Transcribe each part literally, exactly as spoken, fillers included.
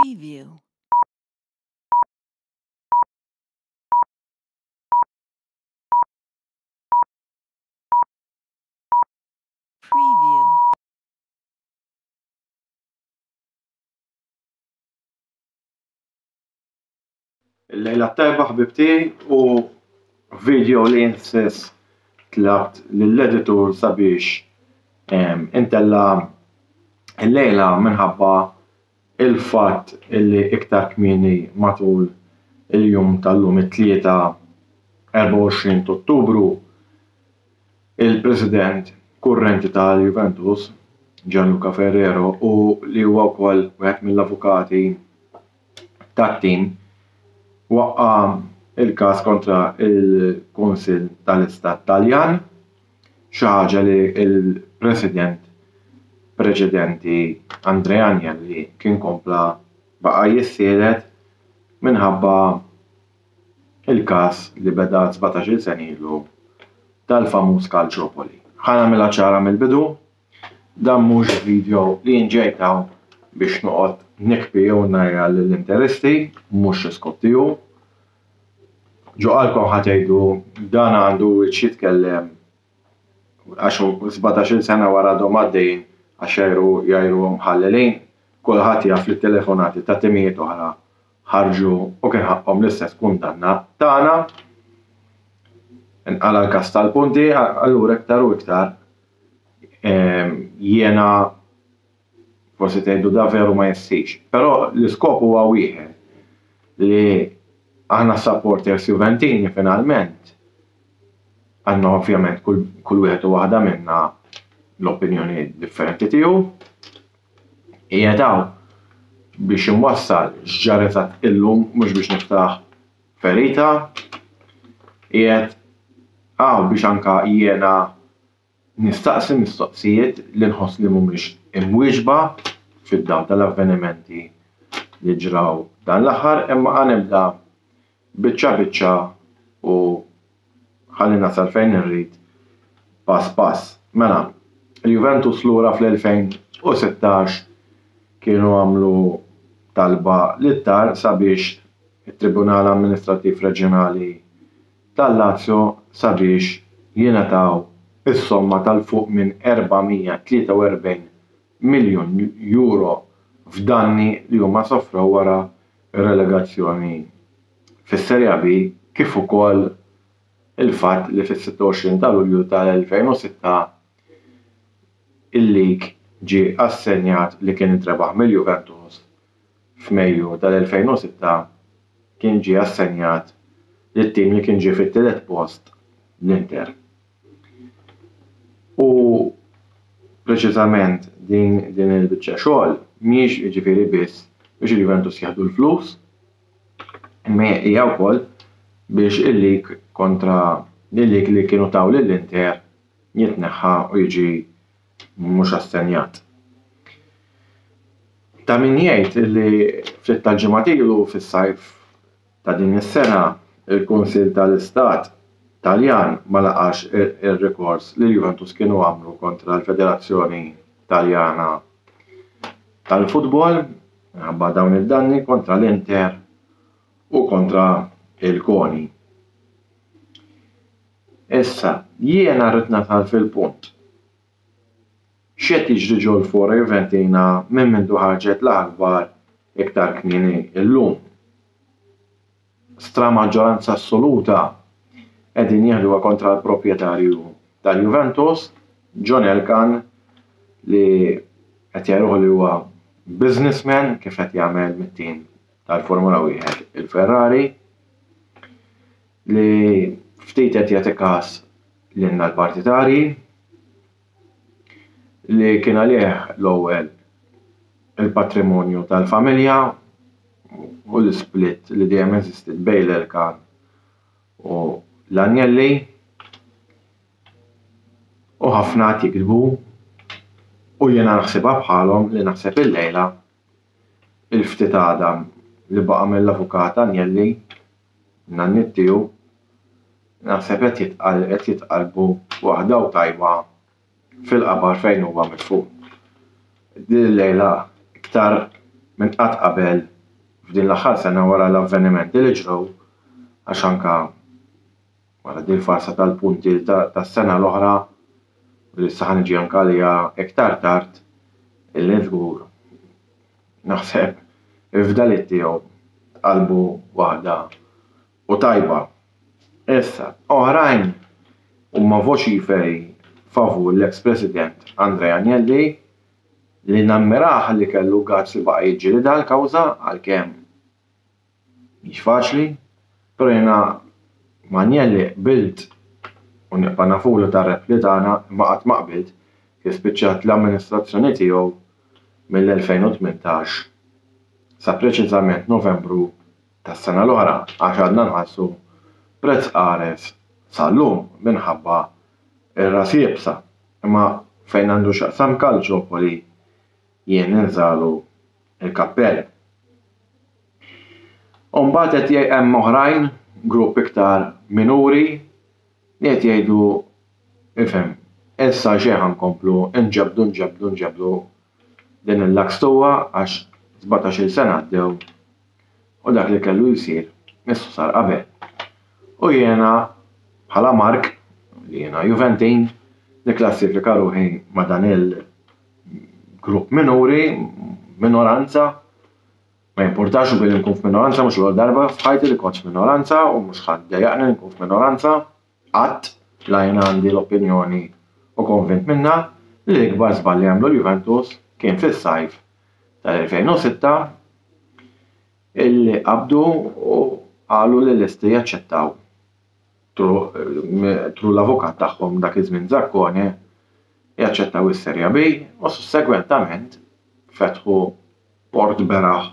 Preview. Preview. Il-lejla tajba, ħbieb tiegħi, u video li jien stess tlabt lill-editur sabiex intella' il-lejla minħabba il-fatt illi iktar kmieni matul il-jum tal-lum, it-Tlieta erbgħa u għoxrin Ottubru, il-president kurrenti tal-Juventus, Gianluca Ferrero, u li huwa wkoll wieħed mill-avukati tat-tim, waqqa' il-każ kontra il-Kunsill tal-Istat Taljan, xi ħaġa li l-president preċedenti Andrea Agnelli kien kompla baqa' jissielet minħabba il-każ li beda sbatax-il sena ilu tal-famuż Calciopoli. Ħa nagħmilha ċara mill-bidu, dan mhux video li jien ġejt hawn biex noqgħod nikbi jew ngħajjar lill-interisti, mhux l-iskop tiegħu. Ġo qalbkom ħa tgħidu dan għandu wiċċ jitkellem għax sbatax-il sena wara għadhom għaddejjin għax jgħajru jgħajruhom ħallelin. Kulħadd jaf li t-telefonati ta' timijiet oħra ħarġu u kien ħaqhom l-istess kundanna tagħna. Inqala l-każ tal-punti, allura iktar u iktar jiena forsi tgħidu da veru ma jessix. Però l-iskop huwa wieħed, li aħna supporters Juventini finalment għandna ovvjament kull, kull wieħed u waħda minna l-opinjoni differenti tiegħu. Qiegħed hawn biex inwassal x'ġara eżatt illum, mhux biex niftaħ ferita. Qiegħed hawn biex anka jiena nistaqsi mistoqsijiet li nħoss li mhumiex imwieġba fid-dawl tal-avvenimenti li ġraw dan l-aħħar, imma ħa nibda biċċa biċċa u ħalli nasal fejn irrid pass pass. Mela, il-Juventus lura fl-elfejn u sittax kienu għamlu talba lit-TAR sabiex it-Tribunal Amministrattiv Reġjonali tal-Lazio sabiex jingħataw is-somma tal-fuq minn erba' mija tlieta u erbgħin miljun euro f'danni li huma soffrew wara relegazzjoni fis-Serie B, kif ukoll il-fatt li fis-sitta u għoxrin ta' Lulju tal-elfejn u sitta il-lig ġie assenjat li kien intrebaħ mill-Juventus f'Mejju tal-elfejn u sitta kien ġie assenjat lit-tim li kien ġie fit-tielet post, l-Inter. U preċiżament din, din il-biċċa xogħol mhijiex jiġifieri biss biex il-Juventus jieħdu l-flus, imma hija wkoll biex il-lig kontra il-lig li kienu taw lill-Inter jitneħħa u jiġi mhux assenjat. Ta' min jgħid li ftit tal-ġimgħat ilu fis-sajf ta' din is-sena il-Kunsill tal-Istat Taljan ma laqax ir-rikors li l-Juventus kienu għamlu kontra l-Federazzjoni Taljana tal-Futbol minħabba dawn id-danni kontra l-Inter u kontra il-CONI. Issa, jiena rrid nasal fil-punt. X'qed jiġri ġol-Fora Juventina minn mindu ħarġet l-aħbar iktar kmieni illum? Stra maġġoranza assoluta qegħdin jieħduha kontra l-proprjetarju tal-Juventus, John Elkann, li qed jgħiruh li huwa businessman kif qed jagħmel mit-tim tal-Formula wieħed il-Ferrari, li ftit qed jagħti każ lilna l-partitarji, li kien għalih l-ewwel il-patrimonju tal-familja u l-split li dejjem eżistiet bejn l-Elkann u l-Agnelli, u ħafna qed jiktbu u jiena naħsibha bħalhom li naħseb illejla il-ftit għadam li baqa' mill-avukat Agnelli, nannit tiegħu, naħseb qed jitqal-, qed jitqalbu waħda u tajba fil-qabar fejn huwa midfun. Din il-lejla iktar minn qatt qabel f'din l-aħħar sena wara l-avvenimenti li ġraw, għax anka wara din farsa tal-punti tas-sena l-oħra li issa ħa niġi anka għaliha iktar tard, illi żgur naħseb il-fdaliet tiegħu tqalbu waħda u tajba. Issa, oħrajn huma voċiferi favur l-ex President Andrea Agnelli, li nammirah li kellu guts li baqa' jiġġielidha l-kawża, għalkemm mhix faċli, però jiena ma' Agnelli qbilt u nibqa' nafulu tar-rebħ li tagħna, imma qatt ma qbilt kif spiċċat l-amministrazzjoni tiegħu mill-elfejn u tmintax sa preċiżament Novembru tas-sena l-oħra, għax għadna nħallsu prezz qares sal-lum minħabba ir-ras iebsa. Imma fejn għandu x'jaqsam Calciopoli jien ninżalu il-kappell. U mbagħad qed jgħid hemm oħrajn, grupp iktar minuri, li qed jgħidu ifhem, issa xejn ħa nkomplu nġebdu, nġebdu, nġebdu din il-lakstuwa għax sbatax-il sena għaddew u dak li kellu jsir missu sar qabel. U jiena bħala Mark, li jiena Juventin, nikklassifika ruħi ma' dan il-grupp minuri, minoranza. Ma jimpurtax u billi nkun f'minoranza, mhux l-ewwel darba f'ħajti li kont f'minoranza u mhux ħadd dejjaqni li nkun f'minoranza, qatt la jiena għandi l-opinjoni u konvint minna li l-ikbar żball li għamlu l-Juventus kien fis-sajf tal-elfejn u sitta illi qabdu u qalu li lesti jaċċettaw tru l-avukat tagħhom dak iż-żmien Zaccone jaċċettaw is-Serie B u sussegwentament fetħu port beraħ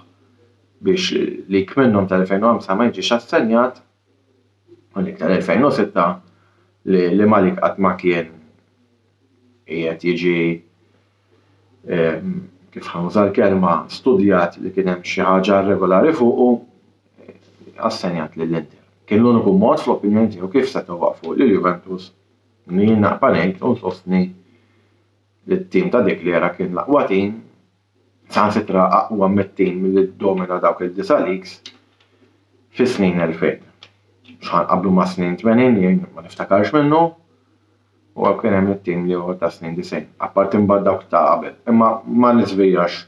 biex lik minnhom tal-elfejn u ħamsa ma jiġix assenjat u lik tal-elfejn u sitta li, li Malik qatt ma kien qiegħed jiġi, ehm, kif ħa nuża l-kelma, studjat li kien hemm xi ħaġa irregolari fuqu, assenjat lill-Inter. Kien l-uniku mod fl-opinjoni tiegħu kif setgħu waqfu lil Juventus li jien naqpa' ngħid u nsostni li t-tim ta' dik l-era kien l-aqwa tim, saħansitra aqwa mit-tim li ddomina dawk id-disa' leagues fis-snin elfejn. X'ħa nqabblu ma' snin tmenin li ma niftakarx minnu, u kien hemm it-tim li huwa ta' snin disgħin, apparti mbagħad dawk ta' qabel, imma ma niżvijax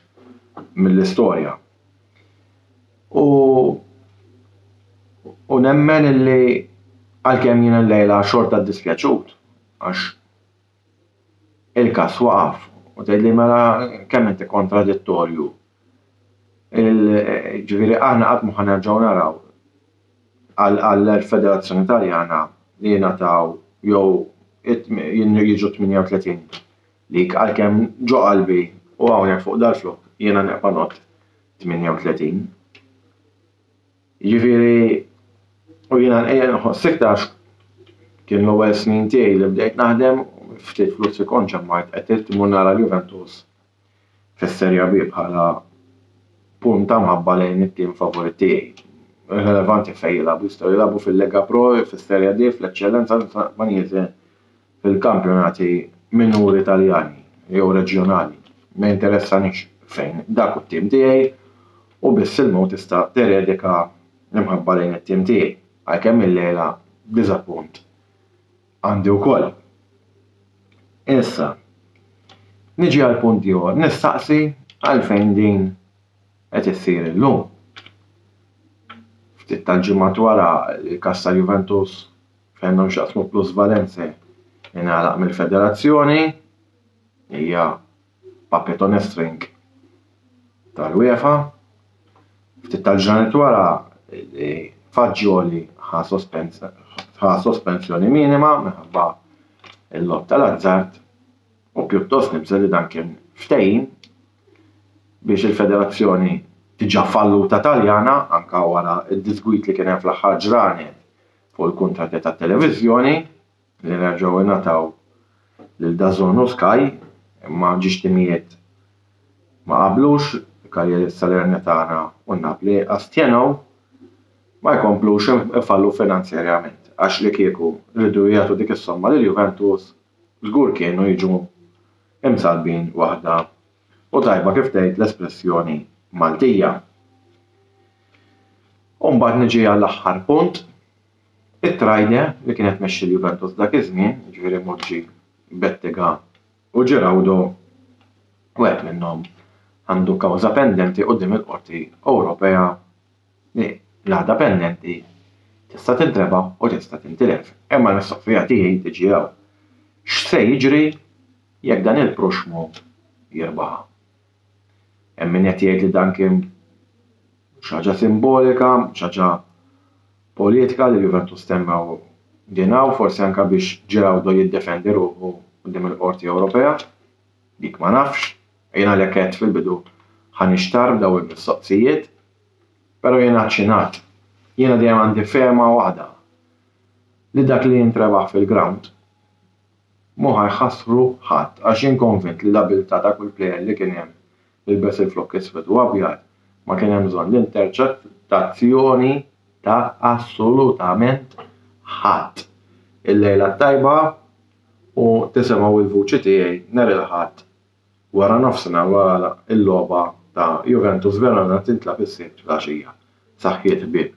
mill-istorja. U, u nemmen illi għalkemm jiena llejla xorta ddispjaċut għax il-każ waqaf u tgħidli mela kemm inti kontradittorju. Il-, ġifieri aħna qatt ma ħa nerġgħu naraw għall-Federazzjoni Taljana li jingħataw jew jiġu tmienja u tletin lik, għalkemm ġo qalbi u hawnhekk fuq dal-flok jiena neqpa' not tmienja u tletin. Jiġifieri u jiena nħoss iktar kien l-ewwel snin tiegħi li bdejt naħdem, ftit flus li kont ġemmajt qed immur nara l-Juventus fis-Serie B bħala punt ta' mħabba lejn it-tim favorit tiegħi. Irrelevanti fejn jilagħbu, jistgħu jilagħbu fil-Lega Pro, fis-Serie D, fl-Eċċellenza Spanjese, fil-kampjonati minuri Taljani jew reġjonali. Ma jinteressanix fejn dak hu t-tim tiegħi u biss il-mod tista' teredika l-imħabba lejn it-tim tiegħi, għalkemm il-lejla diżappunt għandi wkoll. Issa, niġi għal punt ieħor, nistaqsi għalfejn din qed issir illum. Ftit tal-ġimgħat wara l-każ ta' Juventus fejn għandhom x'jaqsmu plusvalenze ingħalaq mill-federazzjoni, hija puppet on a string tal-UEFA. Ftit tal-ġranet wara Fagioli ħa sospens-, ħa sospensjoni minima minħabba il-logħob tal-azzard, u pjuttost nibża' li dan kien ftehim biex il-federazzjoni diġà falluta Taljana, anka wara d-disgwit li kien hemm fl-aħħar ġranet fuq il-kuntratti tat-televiżjoni li nerġgħu ingħataw lil DAZN u Sky, imma ġiex timijiet ma qablux, Cagliari, Salernitana u Napoli astjenew ma jkomplux ifallu finanzjarjament, għax li kieku rridu jagħtu dik is-somma lil Juventus żgur kienu jiġu imsalbin waħda u tajba kif tgħid l-espressjoni Maltija. U mbagħad niġi għall-aħħar punt, it-Trajde li kienet mexxi l-Juventus dak iż-żmien, jiġifieri Moggi, Bettega u Giraudo, wieħed minnhom għandu kawża pendenti quddiem il-Qorti Ewropea li l-għada pendenti tista' tintrebaħ u tista' tintilef. Imma l-mistoqsija tiegħi tiġi hawn. X'se jiġri jekk dan il-proxmu jirbaħha? Hemm min qed jgħid li dan kien xi ħaġa simbolika, xi ħaġa politika li Juventus temmew din hawn, forsi anke biex Giraudo jiddefendi ruħu quddiem il-Qorti Ewropea. Dik ma nafx. Jien għalhekk għedt fil-bidu ħa nixtarr b'dawn il-mistoqsijiet, però jiena ċinat. Jiena dejjem għandi fehma waħda li dak li jintrebaħ fil-ground mhu ħa jħassru ħadd, għax jien konvint li l-abilità ta' kull player li kien hemm li lbes il-flokk iswed u abjad ma kien hemm bżonn l-interċettazzjoni ta' assolutament ħadd. Il-lejla t-tajba u tisimgħu il-vuċi tiegħi nhar il-Ħadd wara nofsinhar, wara l-logħba ta' Juventus Verona tintlagħab is-Sibt filgħaxija. Saħħiet, ħbieb.